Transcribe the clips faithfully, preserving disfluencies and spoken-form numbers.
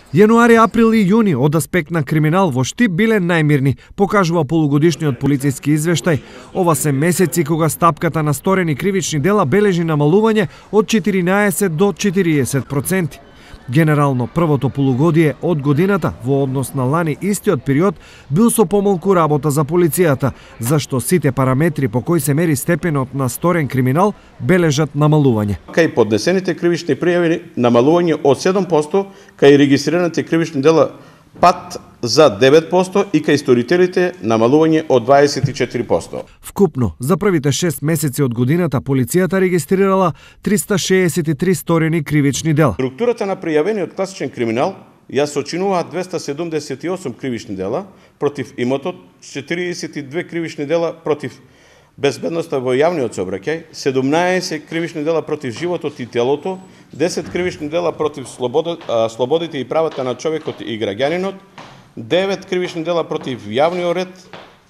Јануари, април и јуни од аспект на криминал во Штип биле најмирни, покажува полугодишниот полициски извештај. Ова се месеци кога стапката на сторени кривични дела бележи намалување од четиринаесет до четириесет проценти. Генерално, првото полугодие од годината во однос на лани истиот период бил со помалку работа за полицијата, зашто сите параметри по кои се мери степенот на сторен криминал бележат намалување. Кај поднесените кривични пријави намалување од седум проценти, кај регистрираните кривични дела пат за девет проценти и кај сторителите намалување од дваесет и четири проценти. Вкупно, за првите шест месеци од годината полицијата регистрирала триста шеесет и три сторени кривични дела. Структурата на пријавениот класичен криминал ја сочинува двеста седумдесет и осум кривични дела против имотот, четириесет и две кривични дела против безбедноста во јавниот сообраќај, седумнаесет кривични дела против животот и телото, десет кривични дела против слободите и правата на човекот и граѓанинот, девет кривични дела против јавниот ред,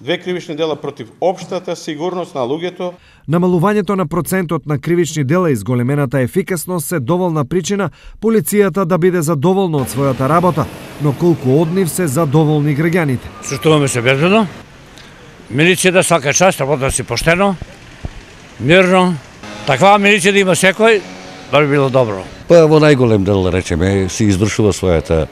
две кривични дела против општата сигурност на луѓето. Намалувањето на процентот на кривични дела и зголемената ефикасност се доволна причина полицијата да биде задоволна од својата работа, но колку од нив се задоволни граѓаните. Чувствуваме се безбедно. Милиција да свака част, работа си поштено, мирно. Таква милиција да има секој, да би било добро. Па во најголем дел, да речеме, си извршува својата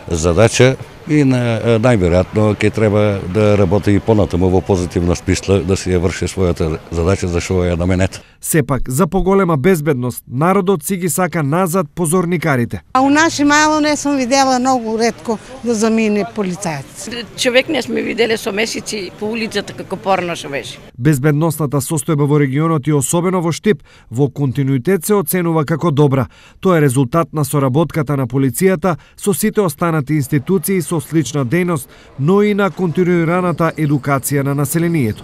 задача и на, најверојатно ќе треба да работи и понатаму во позитивна смисла, да си ја врши својата задача за што ја наменет. Сепак, за поголема безбедност, народот си ги сака назад позорникарите. А у наши мало не сум видела многу ретко да замине полицајец. Човек не сме виделе со месеци по улицата како порнош беше. Безбедносната состојба во регионот и особено во Штип во континуитет се оценува како добра. Тоа е резултат на соработката на полицијата со сите останати институции со слична дејност, но и на континуираната едукација на населението.